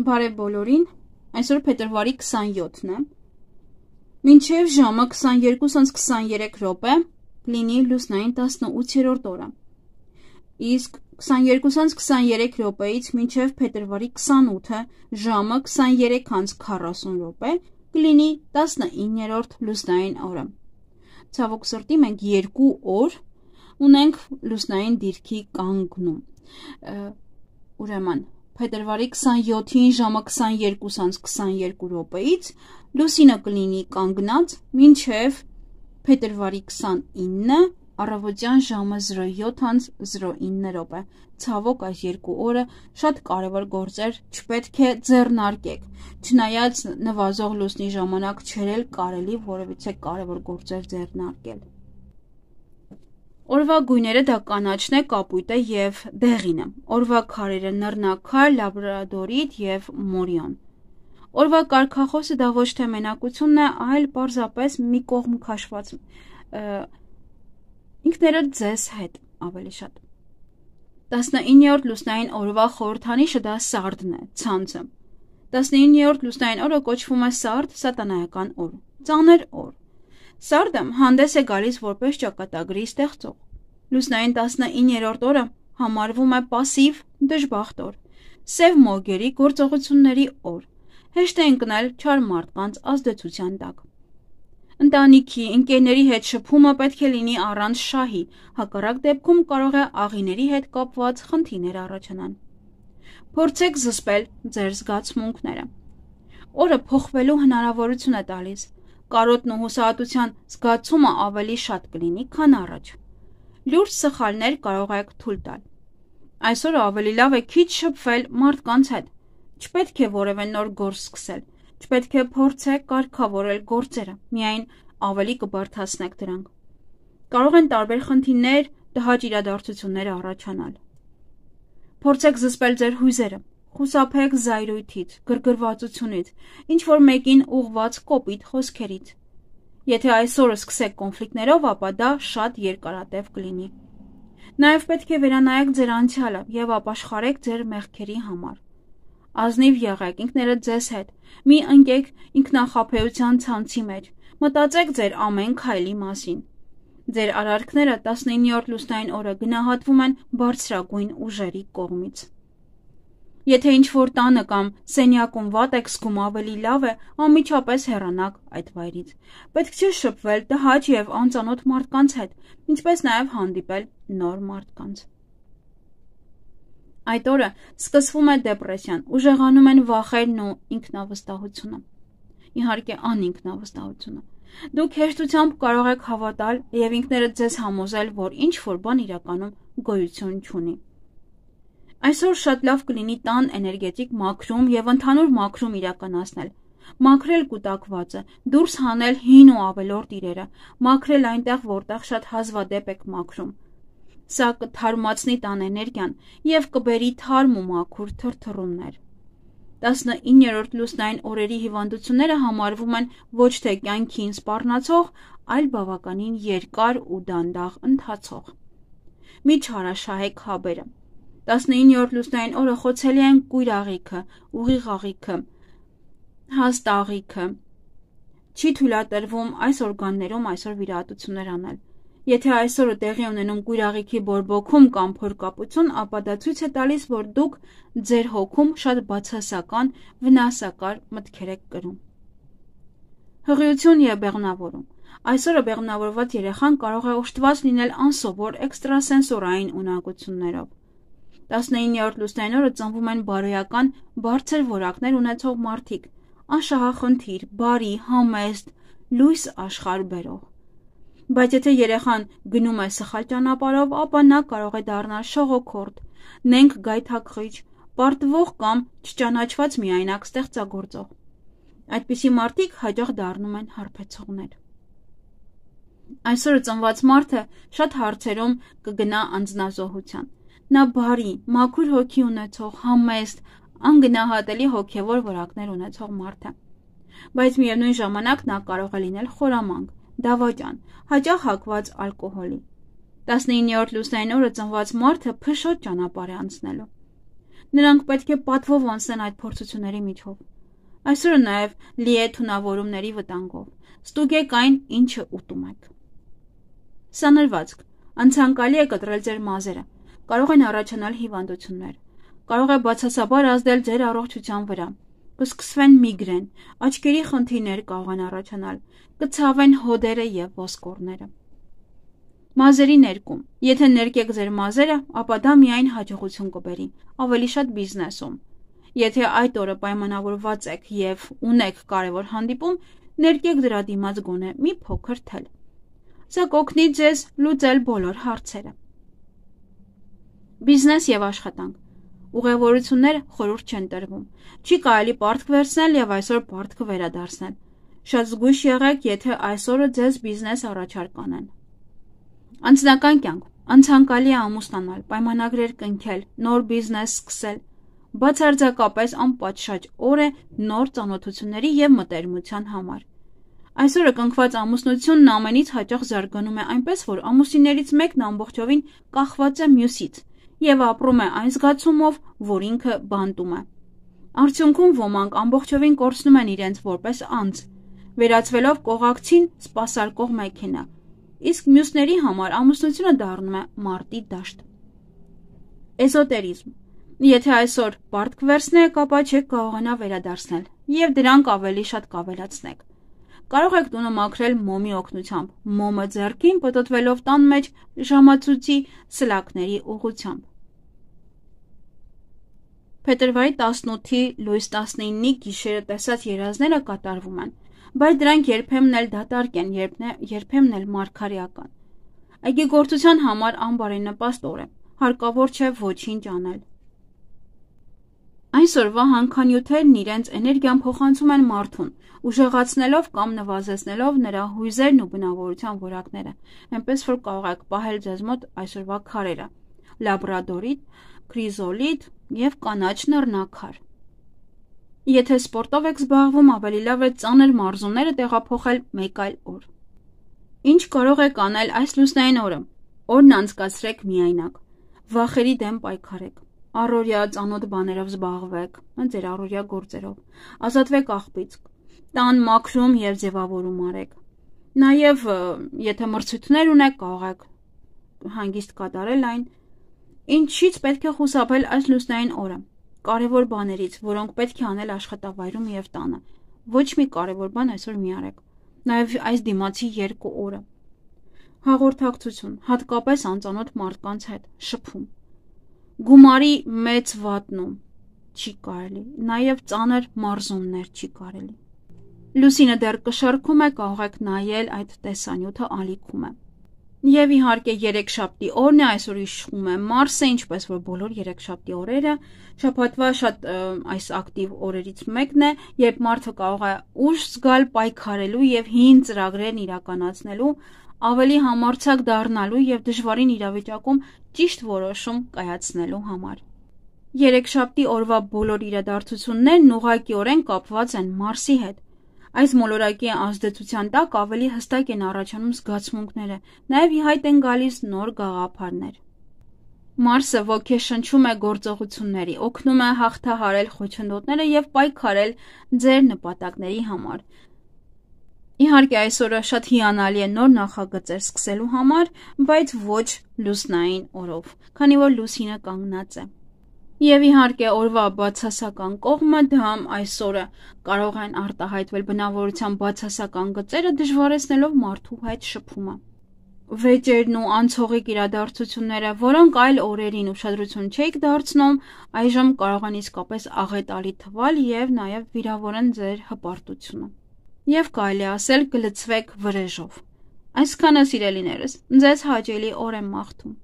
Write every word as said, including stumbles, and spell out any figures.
Բարև բոլորին, այսօր փետրվարի քսանյոթն է, մինչև ժամը քսաներկու ժամ քսաներեք րոպե կլինի լուսնային տասնութերորդ օրը, իսկ քսաներկու ժամ քսաներեք րոպեից մինչև փետրվարի քսանութը ժամը քսաներեք ժամ քառասուն րոպե կլինի տասնիններորդ լուսնային օրը։ Ցավոք սրտի մենք երկու օր ունենք լուսնային դիրքի կանգնում, ուրեմն փետրվարի քսանյոթին ժամը քսաներկու ժամ քսաներկու րոպեից լուսինը կլինի կանգնած մինչև փետրվարի քսանինը առավոտյան ժամը զրո յոթ ժամ զրո ինը րոպե։ Ցավոք այս երկու օրը շատ կարևոր գործեր չպետք է ձեռնարկեք, չնայած նվազող լուսնի ժամանակ չէր էլ կարելի որևիցե կարևոր գործեր ձեռնարկել։ Օրվա գույները դա կանաչն է, կապույտը և դեղինը, օրվա քարերը նռնակար, լաբրադորիտ և մորիոն։ Օրվա կարգախոսը դա ոչ թե մենակությունն է, այլ պարզապես մի կողմ քաշված ինքներդ ձեզ հետ ավելի շատ։ տասնիններորդ լուսնային օրվա խորհրդանիշը դա սարդն է, ցանցը։ տասնիններորդ լուսնային օրը կոչվում է սարդ սատանայական օր, ծանր օր։ Սարդը հանդես է գալիս որպես ճակատագրի ստեղծող։ Լուսնային տասնիններորդ օրը համարվում է պասիվ դժբախտ օր, սև մոգերի գործողությունների օր, հեշտ է ընկնել չար մարդկանց ազդեցության տակ։ Ընտանիքի, ընկերների հետ շփումը պետք է լինի առանց շահի, հակառակ դեպքում կարող է աղիների հետ կապված խնդիրներ առաջանան։ Փորձեք զսպել ձեր զգացմունքները։ Օրը փոխվելու հնարավորություն է տալիս, կարոտն ու հուսահատության զգացումը ավելի շատ կլինի, քան առաջ։ Լուրջ սխալներ կարող եք թույլ տալ։ Այսօր ավելի լավ է քիչ շփվել մարդկանց հետ, չպետք է որևէ նոր գործ սկսել, չպետք է փորձեք կարգավորել գործերը, միայն ավելի կբարդացնեք դրանք։ Կարող են տարբեր խնդիրներ, տհաճ իրադարձություններ առաջանալ։ Փորձեք զսպել ձեր հույզերը, խուսափեք զայրույթից, գրգռվածությունից, ինչ-որ մեկին ուղղված կոպիտ խոսքերից։ Եթե այսօրը սկսեք կոնֆլիկտներով, ապա դա շատ երկարատև կլինի։ Նաև պետք է վերանայեք ձեր անցյալը և ապաշխարեք ձեր մեղքերի համար։ Ազնիվ եղեք ինքներդ ձեզ հետ, մի ընկեք ինքնախաբեության ցանցի մեջ, մտածեք ձեր ամեն քայլի մասին։ Ձեր արարքները տասնիններորդ լուսնային օրը գնահատվում են բարձրագույն ուժերի կողմից։ Եթե ինչ-որ տանը կամ սենյակում վատ եք զգում, ավելի լավ է անմիջապես հեռանաք այդ վայրից։ Պետք չէ շփվել տհաճ և անծանոթ մարդկանց հետ, ինչպես նաև հանդիպել նոր մարդկանց։ Այդ օրը սկսվում է դեպրեսիան, ուժեղանում են վախերն ու ինքնավստահությունը։ Իհարկե անինքնավստահությունը։ Դուք հեշտությամբ կարող եք հավատալ և ինքներդ ձեզ համոզել, որ ինչ-որ բան իրականում գոյություն չունի։ Այսօր շատ լավ կլինի տան էներգետիկ մաքրում և ընդհանուր մաքրում իրականացնել, մաքրել կուտակվածը, դուրս հանել հին ու ավելորդ իրերը, մաքրել այնտեղ, որտեղ շատ հազվադեպ եք մաքրում։ Սա կթարմացնի տան էներգիան և կբերի թարմ ու մաքուր թրթռումներ։ տասնիններորդ լուսնային օրերի հիվանդությունները համարվում են ոչ թե կյանքին սպառնացող, այլ բավականին երկար ու դանդաղ ընթացող։ Մի չարաշահեք հաբերը։ տասնիններորդ լուսնային օրը խոցելի են կույր աղիքը, ուղիղ աղիքը, հաստ աղիքը։ Չի թույլատրվում այս օրգաններում այսօր վիրահատություններ անել։ Եթե այսօրը տեղի ունենում կույր աղիքի բորբոքում կամ փորկապություն, ապա դա ցույց է տալիս, որ դուք ձեր հոգում շատ բացասական, վնասակար մտքեր եք կրում։ Հղիություն և բեղմնավորում։ Այսօրը բեղմնավորված երեխան կարող է օժտված լինել անսովոր էքստրասենսորային ունակություններով։ տասնիններորդ լուսնային օրը ծնվում են բարոյական, բարձր որակներ ունեցող մարդիկ, անշահախնդիր, բարի, համեստ, լույս աշխարհ բերող։ Բայց եթե երեխան գնում է սխալ ճանապարհով, ապա նա կարող է դառնալ շողոքորթ, նենգ գայթակղիչ, պարտվող կամ չճանաչված միայնակ ստեղծագործող։ Այդպիսի մարդիկ հաճախ դառնում են հարբեցողներ։ Այսօրը ծնված մարդը շատ հարցերում կգնա անձնազոհության։ Նա բարի, մաքուր հոգի ունեցող, համեստ, անգնահատելի հոգևոր որակներ ունեցող մարդ է։ Բայց միևնույն ժամանակ նա կարող է լինել խորամանկ, դավաճան, հաճախ հակված ալկոհոլի։ տասնիններորդ լուսնային օրը ծնված մարդը փշոտ ճանապարհ է անցնելու։ Նրանք պետք է պատվով անցնեն այդ փորձությունների միջով։ Այսօրը նաև լի է թունավորումների վտանգով։ Ստուգեք այն, ինչը ուտում եք։ Սանրվածք։ Անցանկալի է կտրել ձեր մազերը։ Կարող են առաջանալ հիվանդություններ։ Կարող է բացասաբար ազդել ձեր առողջության վրա։ Կսկսվեն միգրեն, աչքերի խնդիրներ կարող են առաջանալ, կցավեն հոդերը և ոսկորները։ Մազերի ներկում։ Եթե ներկեք ձեր մազերը, ապա դա միայն հաջողություն կբերի, ավելի շատ բիզնեսում։ Եթե այդ օրը պայմանավորված եք և ունեք կարևոր հանդիպում, ներկեք դրա դիմաց գոնե մի փոքր թել։ Սա կօգնի ձեզ լուծել բոլոր հարցերը։ Բիզնես և աշխատանք։ Ուղևորությունները խորհուրդ չեն տրվում։ Չի կարելի պարտք վերցնել և այսօր պարտքը վերադարձնել։ Շատ զգույշ եղեք, եթե այսօրը ձեզ բիզնես առաջարկ անեն։ Անձնական կյանք։ Անցանկալի է ամուսնանալ, պայմանագրեր կնքել, նոր բիզնես սկսել։ Բացարձակապես անպատշաճ օր է նոր ծանոթությունների և մտերմության համար։ Այսօրը կնքված ամուսնությունն ամենից հաճախ զարգանում է այնպես, որ ամուսիններից մեկն ամբողջովին կախված է մյուսից և ապրում է այն զգացումով, որ ինքը բանտում է։ Արդյունքում ոմանք ամբողջովին կորցնում են իրենց որպես անձ, վերածվելով կողակցին սպասարկող մեքենա, իսկ մյուսների համար ամուսնությունը դառնում է մարտի դաշտ։ Էզոտերիզմ։ Եթե այսօր պարտք վերցնեք, ապա չեք կարողանա վերադարձնել և դրանք ավելի շատ կավելացնեք։ Կարող եք տունը մաքրել մոմի օգնությամբ, մոմը ձեռքին պտտվելով տան մեջ ժամացույցի սլաքների ուղղությամբ։ Փետրվարի տասնութի լույս տասնինի գիշերը տեսած երազները կատարվում են, բայց դրանք երբեմն էլ դատարկ են, երբեմն էլ մարգարեական։ Այգեգործության համար անբարենպաստ օր է, հարկավոր չէ ոչինչ անել։ Այսօրվա հանքանյութերն իրենց էներգիան փոխանցում են մարդուն, ուժեղացնելով կամ նվազեցնելով նրա հույզերն ու բնավորության որակները, այնպես որ կարող եք պահել ձեզ մոտ այսօրվա քարերը՝ լաբրադորիտ, քրիզոլիտ և կանաչ նռնակար։ Եթե սպորտով եք զբաղվում, ավելի լավ է ծանր մարզումները տեղափոխել մեկ այլ օր։ Ինչ կարող եք անել այս լուսնային օրը։ Օրն անցկացրեք միայնակ։ Վախերի դեմ պայքարեք։ Առօրյա ծանոթ բաներով զբաղվեք, ձեր առօրյա գործերով։ Ազատվեք աղբից։ Տան մաքրում և ձևավորում արեք։ Նաև, եթե մրցույթներ ունեք, կարող եք հանգիստ կատարել այն։ Ինչից պետք է խուսափել այս լուսնային օրը։ Կարևոր բաներից, որոնք պետք է անել աշխատավայրում և տանը։ Ոչ մի կարևոր բան այսօր մի արեք։ Նաև այս դիմացի երկու օրը։ Հաղորդակցություն, հատկապես անծանոթ մարդկանց հետ, շփում։ Գումարի մեծ վատնում չի կարելի, նաև ծանր մարզումներ չի կարելի։ Լուսինը դեռ կշռքում է, կարող եք նայել այդ տեսանյութը ալիքում է։ Եվ իհարկե երեքշաբթի օրն է, այսօր իշխում է Մարսը, ինչպես որ բոլոր երեքշաբթի օրերը, շաբաթվա շատ այս ակտիվ օրերից մեկն է, երբ մարդը կարող է ուժ զգալ պայքարելու և հին ծրագրերն իրականացնելու, ավելի համարձակ դառնալու և դժվարին իրավիճակում ճիշտ որոշում կայացնելու համար։ Երեքշաբթի օրվա բոլոր իրադարձություններն ուղղակիորեն կապված են Մարսի հետ։ Այս մոլորակի ազդեցության տակ ավելի հստակ են առաջանում զգացմունքները, նաև ի հայտ են գալիս նոր գաղափարներ։ Մարսը ոգեշնչում է գործողությունների, օգնում է հաղթահարել խոչընդոտները և պայքարել ձեր նպատակների համար։ Իհարկե այսօրը շատ հիանալի է նոր նախագծեր սկսելու համար, բայց ոչ լուսնային օրով, քանի որ լուսինը կանգնած է։ Եվ իհարկե օրվա բացասական կողմը դա այսօրը կարող են արտահայտվել բնավորության բացասական գծերը, դժվարեցնելով մարդու հետ շփումը։ Վեճերն ու անցողիկ իրադարձությունները, որոնք այլ օրերին ուշադրություն չէիք դարձնում, այժմ կարող են իսկապես աղետալի թվալ և նաև վիրավորեն ձեր հպարտությունը։ Եվ կարելի ասել կլցվեք վրեժով։ Այսքանը սիրելիներս, ձեզ հաճելի օր եմ մաղթում։